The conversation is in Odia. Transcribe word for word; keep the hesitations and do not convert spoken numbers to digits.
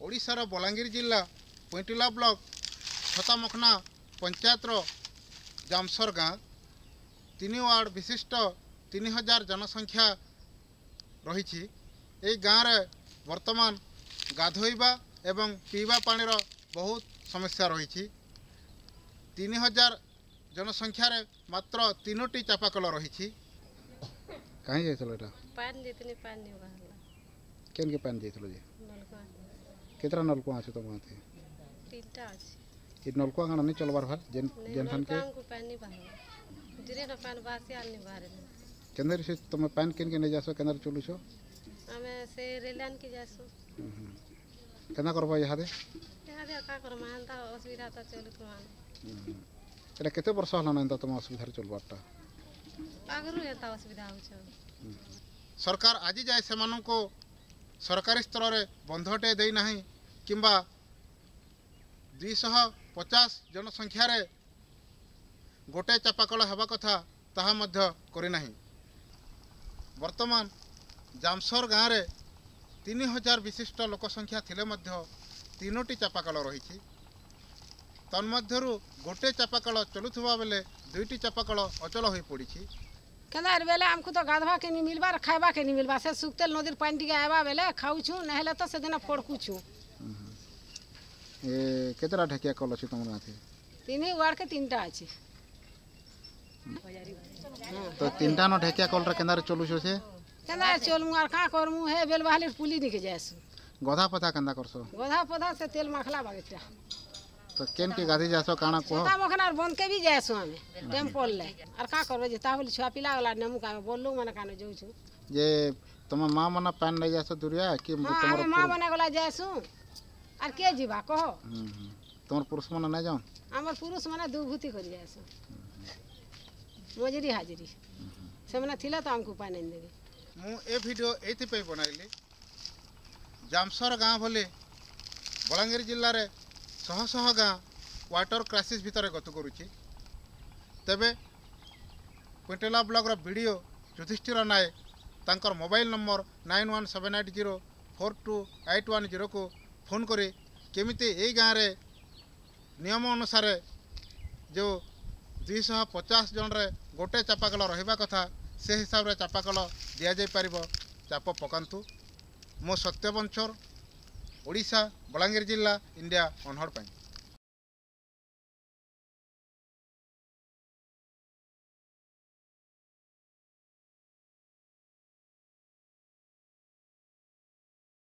ଓଡ଼ିଶାର ବଲାଙ୍ଗୀର ଜିଲ୍ଲା ପୁଇଁଟିଲା ବ୍ଲକ ଛତାମଖନା ପଞ୍ଚାୟତର ଜାମସର ଗାଁ ତିନି ୱାର୍ଡ଼ ବିଶିଷ୍ଟ ତିନି ହଜାର ଜନସଂଖ୍ୟା ରହିଛି। ଏଇ ଗାଁରେ ବର୍ତ୍ତମାନ ଗାଧୋଇବା ଏବଂ ପିଇବା ପାଣିର ବହୁତ ସମସ୍ୟା ରହିଛି। ତିନି ହଜାର ଜନସଂଖ୍ୟାରେ ମାତ୍ର ତିନୋଟି ଚାପାକଳ ରହିଛି। କାହିଁ ଯାଇଥିଲ ଏଇଟା? ପାଣି ଯାଇଥିଲି, ପାଣି ନି ବାହାରିଲା। କେନ୍କେ ପାଣି ଯାଇଥିଲ ଯେ? ନଲକୁଆ। କେତେଟା ନଲକୁଆ ଅଛି ତମ ଗାଁଥି? ତିନିଟା ଅଛି। ଏ ନଲକୁଆ କାଣା ନି ଚଲବାର ଭାଲ ଯେନ୍ ଯେନ୍ ଥାନକେ? ନଲକୁଆଙ୍କୁ ପାଣି ନି ବାହାରିଲା, ଜିରେ ନ ପାଣି ବାସି ଆର୍ ନି ବାହାରେ। କେନ୍ଦରେ ସେ ତମେ ପାଣି କେନ୍କେ ନେଇ ଯାସ, କେନ୍ଦରେ ଚଲୁଛ? ଆମେ ସେ ରେଲାନ୍ କେ ଯାସୁ। କେନ୍ତା କରବ ଇହାଦେ? ଇହାଦେ କାଁ କରମା, ଏନ୍ତା ଅସୁବିଧା ତ ଚଲୁଥିମା। ଏଟା କେତେ ବର୍ଷ ହେଲାନ ଏନ୍ତା ତମ ଅସୁବିଧାରେ ଚଲବାରଟା? ଆଗରୁ ଏନ୍ତା ଅସୁବିଧା ହଉଛେ। ସରକାର ଆଜି ଯାଏ ସେମାନଙ୍କୁ ସରକାରୀ ସ୍ତରରେ ବନ୍ଧଟେ ଦେଇନାହିଁ କିମ୍ବା ଦୁଇଶହ ପଚାଶ ଜନସଂଖ୍ୟାରେ ଗୋଟେ ଚାପାକଳ ହେବା କଥା ତାହା ମଧ୍ୟ କରିନାହିଁ। ବର୍ତ୍ତମାନ ଜାମସର ଗାଁରେ ତିନି ହଜାର ବିଶିଷ୍ଟ ଲୋକ ସଂଖ୍ୟା ଥିଲେ ମଧ୍ୟ ତିନୋଟି ଚାପାକଳ ରହିଛି। ତନ୍ମଧ୍ୟରୁ ଗୋଟେ ଚାପାକଳ ଚଲୁଥିବା ବେଳେ ଦୁଇଟି ଚାପାକଳ ଅଚଳ ହୋଇପଡ଼ିଛି। କେନ୍ତା ବେଲେ ଆମକୁ ତ ଗାଧବା କେ ନି ମିଲବାର, ଖାଇବା କେ ନି ମିଲବା। ସେ ସୁକ୍ତେଲ ନଦୀର ପାଣି ଟିକେ ଆଇବା ବେଲେ ଖାଉଛୁ, ନହେଲେ ତ ସେଦିନ ଫଡ଼କୁଛୁ। ଏ କେତେଟା ଢେକିଆ କଲ ଅଛି ତମର ଗାଁଥି? ତିନି ୱାର୍ଡ କେ ତିନିଟା ଅଛି। ତ ତିନିଟା ନ ଢେକିଆ କଲରେ କେନ୍ତାରେ ଚଲୁଛ ସେ? କେନ୍ତା ଚଲମୁ ଆର୍ କାଁ କରମୁ, ହେ ବେଲ ବାହାଲି ପୁଲି ନିକେ ଯାଏସୁ। ଗଧା ପଧା କେନ୍ତା କରସ? ଗଧା ପଧା ସେ ତେଲ ମାଖଲା ବାଗେଟା। ତ କେନ୍ କେ ଗାଧି ଯାସ କାଣା କୁହ? ଛତା ମଖନାର ବନ୍ଦ କେ ବି ଯାଏସୁ ଆମେ ଟାଇମ୍ ପଡ଼ଲେ। ଆର୍ କାଁ କରବେ ଯେ, ତା ବୋଲି ଛୁଆ ପିଲା ଗଲା ନେମୁ କାଁ ବଲୁ ମାନେ କାନେ ଯାଉଛୁ। ଯେ ତମ ମା ମାନେ ପାନ୍ ନେଇ ଯାସ ଦୁରିଆ କି? ତମର ମା ମାନେ ଗଲା ଯାଏସୁ, ଆର୍ କିଏ ଯିବା କହ? ତମର ପୁରୁଷ ମାନେ ନାଇଁ ଯାଉନ୍? ଆମର ପୁରୁଷ ମାନେ ଦୁଭୂତି କରି ଯାଏସୁ, ମଜୁରୀ ହାଜିରି। ସେମାନେ ଥିଲେ ତ ଆମକୁ ପାଣି ଦେବେ। ମୁଁ ଏ ଭିଡ଼ିଓ ଏଇଥିପାଇଁ ବନାଇଲି, ଜାମସର ଗାଁ ଭଳି ବଲାଙ୍ଗୀର ଜିଲ୍ଲାରେ ଶହ ଶହ ଗାଁ ୱାଟର କ୍ରାଇସିସ୍ ଭିତରେ ଗତି କରୁଛି। ତେବେ କୁଇଣ୍ଟଲା ବ୍ଲକର B D O Yudhishthir Nayak ତାଙ୍କର mobile number nine one seven eight zero four two eight one ଜିରୋକୁ phone କରି କେମିତି ଏଇ ଗାଁରେ ନିୟମ ଅନୁସାରେ ଯେଉଁ ଦୁଇଶହ ପଚାଶ ଜଣରେ ଗୋଟେ ଚାପାକଳ ରହିବା କଥା, ସେ ହିସାବରେ ଚାପାକଳ ଦିଆଯାଇପାରିବ, ଚାପ ପକାନ୍ତୁ। ମୁଁ ସତ୍ୟବଞ୍ଚର, ଓଡ଼ିଶା ବଲାଙ୍ଗୀର ଜିଲ୍ଲା, ଇଣ୍ଡିଆ ଅନହଡ଼ ପାଇଁ।